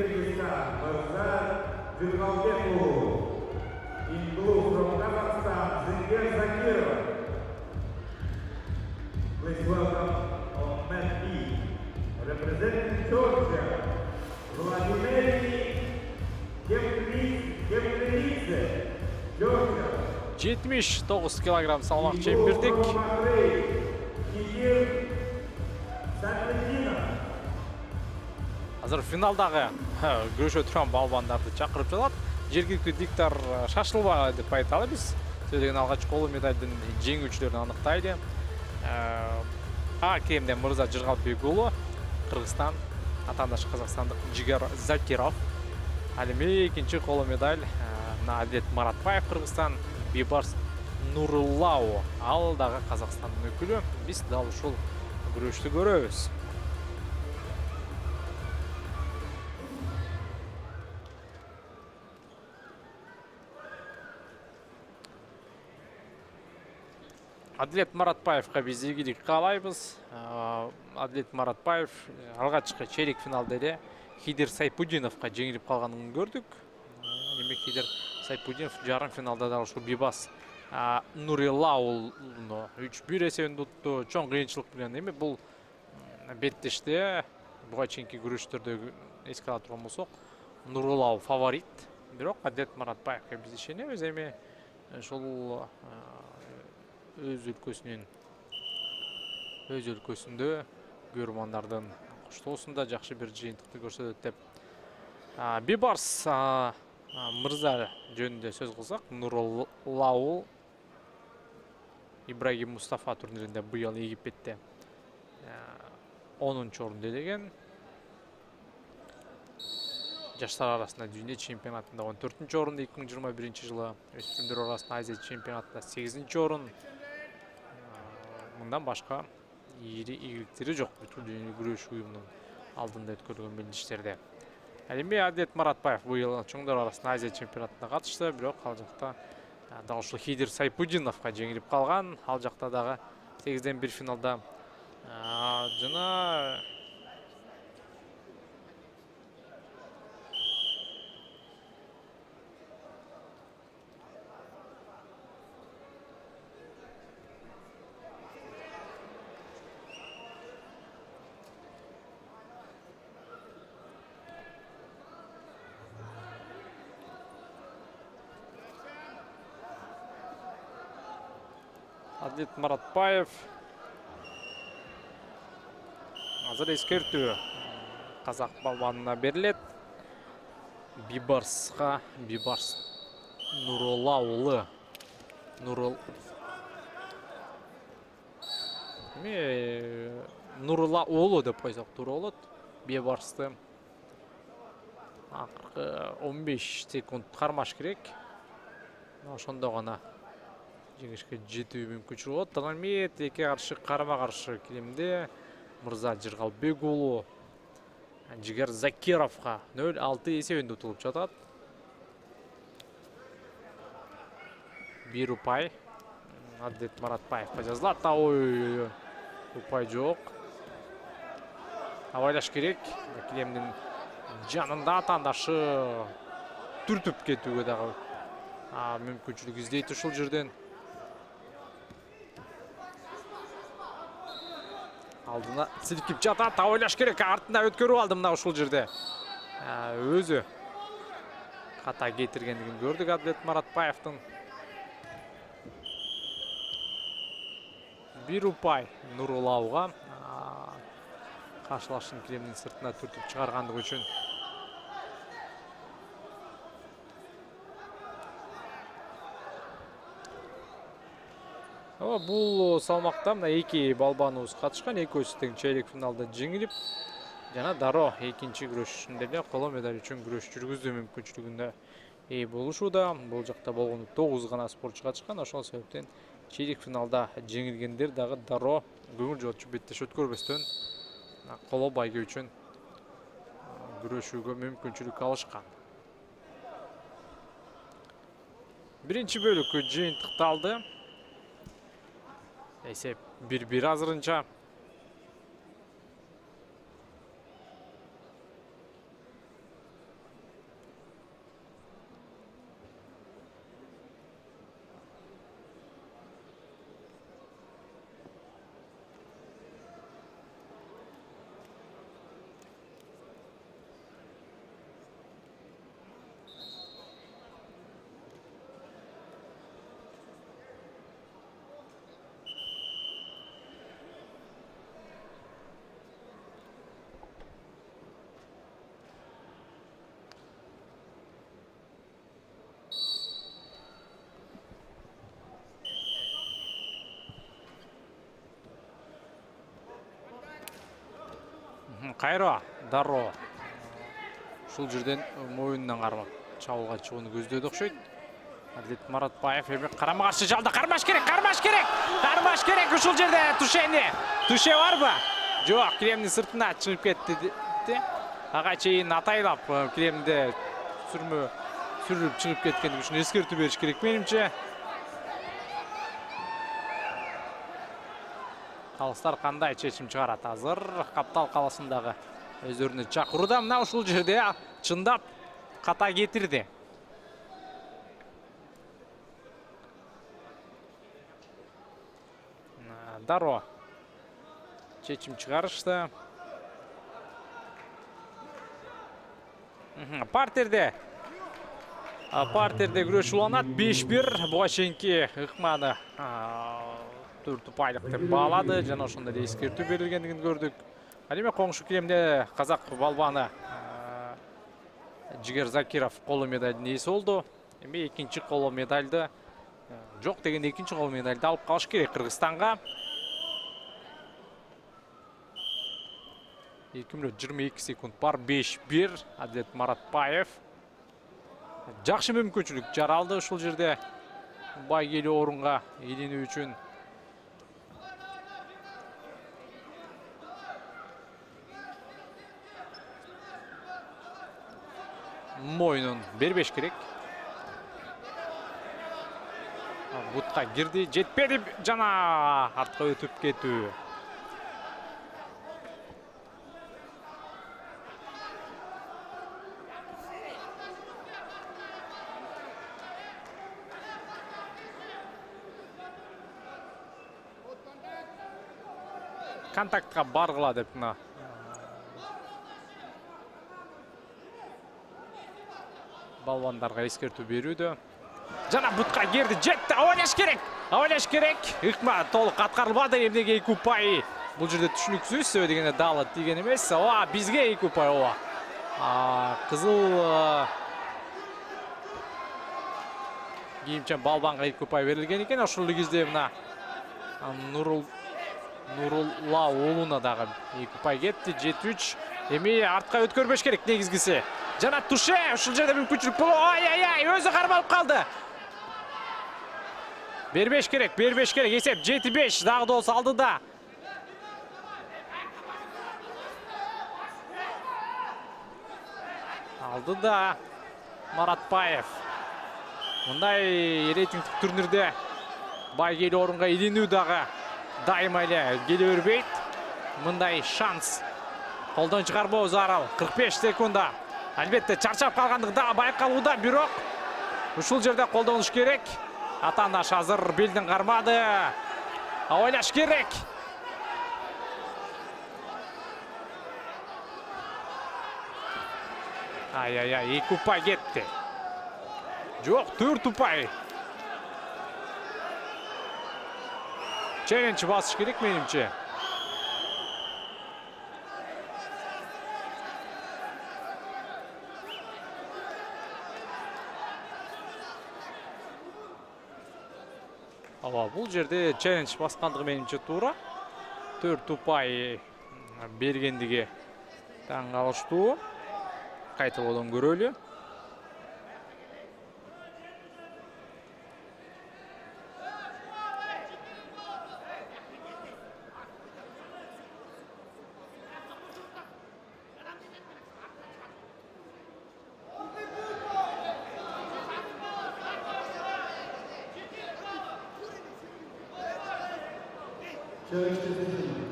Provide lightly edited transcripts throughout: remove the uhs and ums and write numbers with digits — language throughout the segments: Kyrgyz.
Kyrgyzstan, Mirzal Jurgalbekov. In blue from Kazakhstan, Zengel Zakirov. Please welcome on mat B, representing Georgia, Vladimir Kemkridze, Georgia. 79 килограмм салмак чембирдик. Азыр финалдагы күрөшө турган балбандарды чакырып жатат. Жергиликтүү диктор шашылбай деп айталы биз. Сөйлөгөн алгач коло медалдын жеңүүчүлөрүн аныктайды. Кемден Мырза Жыргалбек уулу, Кыргызстан, атаандаш казакстандык Жигер Закиров. Ал эми экинчи коло медаль Адлет Маратбаев, Кыргызстан, Бибарс Нуруллау, ал дагы Казакстандын өкүлү. Биз дал ушул күрөштү көрөбүз. Адлет Маратбаевга биз ийгилик каалайбыз. Адлет Маратбаев алгачкы чейрек финалда эле Хидир Сайпудиновго жеңилип калганын көрдүк. Эми Хидир Сайпудинов жарым финалда да ушул Бибас Нуруллауну 3-1 эсебинде утту. Чоң кыйынчылык менен эми бул беттеште буга чейинки күрөштөрдө эске ала турган болсок, Нуруллау фаворит. Бирок Адлет Маратбаевга биз ишенебиз. Эми ушул өз өлкөсүндө көрөрмандардын коштоосунда жакшы бир жыйынтыкты көрсөтөт деп. Бибарс Мырза жөнүндө сөз кылсак, Нуруллау Ибрагим Мустафа турниринде быйыл Египетте 10-чу орунду ээлеген. Жаштар арасында дүйнө чемпионатында 14-чү орунду 2021-жылы, өспүрүмдөр арасында Азия чемпионатында 8-чи орун. Мындан башка ийри ийгиликтери жок бүтүн дүйнө күрөш уюмунун алдында өткөрүлгөн мелдештерде. Эми Адлет Маратбаев быйыл чоңдор арасында Азия чемпионатына катышты, бирок ал жакта дал ушул Хидир Сайпудиновго жеңилип калган. Ал жакта дагы 8-1 финалда жана Адлет Маратбаев азыр эскертүү казак балбанына берилет. Бибарс Нуруллау Нуруллау деп койсок туура болот. Бибарсты акыркы 15 секунд кармаш керек. Ошондо гана жеңишке жетүү мүмкүнчүлүгү болот. Эми эки каршы карама-каршы килемде Мырза Жыргалбек уулу Жигер Закировго 0-6 эсебинде утулуп жатат. Бир упай Адлет Маратбаевга жазылат. Ой, упай жок. Абайлаш керек. Килемдин жанында атаандашы түртүп кетүүгө дагы мүмкүнчүлүк издейт ушул жерден. Алдына силкип жатат, ойлаш керек, артына өткөрүп алды мына ушул жерде. Өзү ката кетиргендигин көрдүк Адлет Маратбаевдин. Бир упай Нуруллауга каршылашын килемдин сыртына түртүп чыгаргандыгы үчүн. Бул салмакта мына эки балбаныбыз катышкан, экөөсү тең чейрек финалда жеңилип, жана дароо экинчи күрөшүндө эле коло медаль үчүн күрөш жүргүзүү мүмкүнчүлүгүнө ээ болушууда. Бул жакта болгону 9 гана спортчу катышкан, ошол себептен чейрек финалда жеңилгендер дагы дароо көңүл жуутчу беттеш өткөрбөстөн коло байгө үчүн күрөшүүгө мүмкүнчүлүк алышкан. Биринчи бөлүк жыйынтыкталды. Эсеп 1-1 азырынча. Кайра Даро ушул жерден моюнунан кармап чабуулга чыгууну көздөдү окшойт. Адилет Маратбаев эми карама-каршы жалда кармаш керек. Ушул жерде Туше барбы? Жок, кремдин сыртына чыгып кетти. Ага чейин атайлап кремде сүрүп чыгып кеткендиги үчүн эскертүү бериш керек менимче. Калыстар кандай чечим чыгарат азыр? Каптал каласындагы өздөрүнө чакырууда. Мына ушул жерде чындап ката кетирди. Даро чечим чыгарышты. Партерде күрөш уланат. 5-1 буга чейинки ыкманы 4 упайлык деп баалады. Жана ошондой эле эскертүү берилгендигин көрдүк. Ал эми коңшу киремде казак балбаны Жигер Закиров коло медалдын ээси болду. Эми экинчи коло медалды жок дегенде экинчи коло медалды алып калыш керек Кыргызстанга. 2 мүнөт 22 секунд бар. 5-1 Адилет Маратбаев. Жакшы мүмкүнчүлүк жаралды ушул жерде байгелүү орунга илинүү үчүн. Моюнун бербеш керек. Бутка кирди, жетпеди жана артка өтүп кетүү. Контактка баргыла деп мына балбандарга эскертүү берүүдө. Жана бутка кирди, жетти, абайлаш керек. Ыкма толук аткарылбады. Эмнеге 2 упай? Бул жерде түшүнүксүз, себеби дегенде далы тийген эмес. Бизге 2 упай кызыл кийимчен балбанга 2 упай берилген экен. Ошол кезде мына Нурулла уулуна дагы 2 упай кетти. 7-3. Эми артка өткөрбөш керек негизгиси. Жана Туше ушул жерде мүмкүнчүлүк боло. Өзү кармалып калды. Бербеш керек. Эсеп 7-5 дагы да болсо алдыда. Алдыда Маратбаев. Мындай рейтингдик турнирде байгелүү орунга илинүү дагы дайыма эле келе бербейт. Мындай шанс колдон чыгарбоо зарыл. 45 секунда. Албетте чарчап калгандыгы дагы байкалууда, бирок ушул жерде колдонуш керек. Атандаш азыр белдин кармады. Ойлош керек. Ай, 2 упай кетти. Жок, 4 упай. Челлендж басыш керек менимче. Бул жерде челлендж баскандыгы менимче туура. 4 упай бергендиги таң калыштуу. Кайталоодон көрөлү. Challenge decision.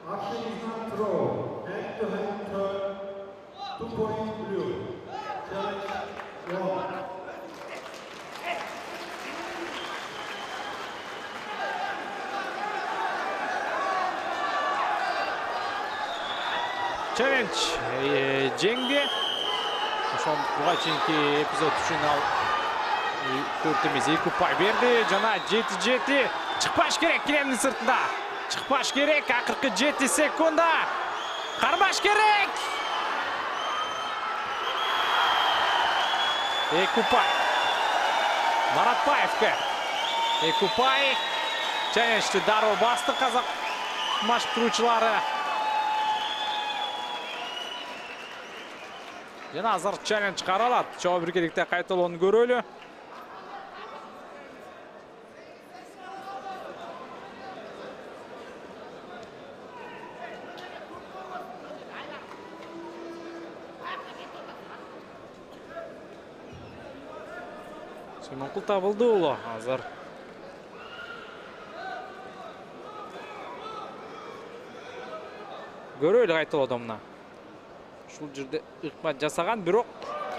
Action is not throw. Hand-to-hand turn. 2 points blue. Challenge 1. Challenge жеңди. Ошол буга чейинки эпизод үчүн ал 4 эмес 2 упай берди. Жана 7-7 чыкпаш керек кремдин сыртында. Чыкпаш керек. Акыркы 7 секунда. Кармаш керек. 2 упай. Маратбаевке 2 упай. Чалленджди дароо басты казак машыктыруучулары. Жана азыр челлендж каралат. Чоң биргеликте кайталоону көрөлү. Сүймөнкул табылды улу азыр. Көрөлү кайталоодо мына. Ушул жерде ыкмат жасаган, бирок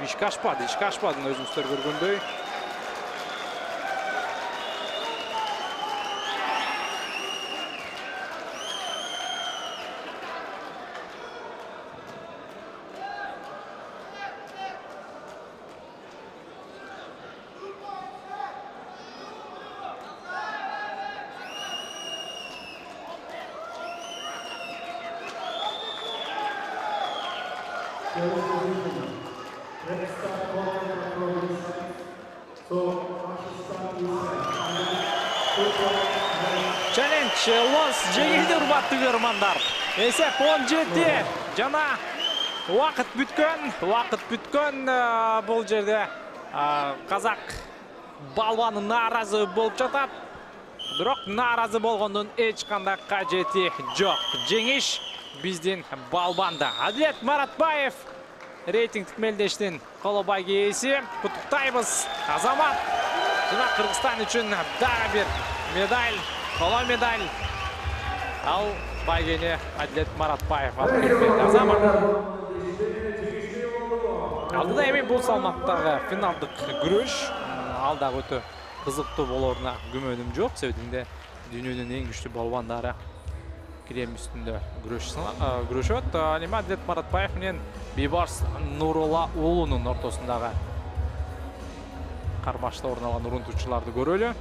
ишке ашпады. Ишке ашпады өзүңүздөр көргөндөй. Челлендж лос жеңилди урматтуу көрөрмандар. Эсеп 17 жана убакыт бүткөн. Бул жерде казак балбаны нааразы болуп жатат. Бирок нааразы болгондун эч кандай кажети жок. Жеңиш биздин балбанда. Адилет Маратбаев рейтингдик мелдештин коло байге ээси. Куттуктайбыз Азамат. Жана Кыргызстан үчүн дагы бир медаль, коло медаль. Ал байгени Адилет Маратбаев алып келген. Азамат. Алдыда эми бул салмактагы финалдык күрөш. Ал дагы өтө кызыктуу болоруна күмөнүм жок. Себебинде дүйнөнүн эң күчтүү балбандары кирем үстүндө күрөшөт. Эми Адилет Маратбаев менен Бейбарс Нурулла уулунун ортосундагы кармашта орун алган урунтуучуларды көрөлү.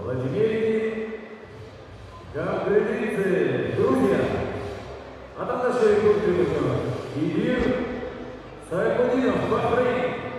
Владимир Габрелидзе, Грузия. Атакта Идир Сайфудинов, Бахрейн.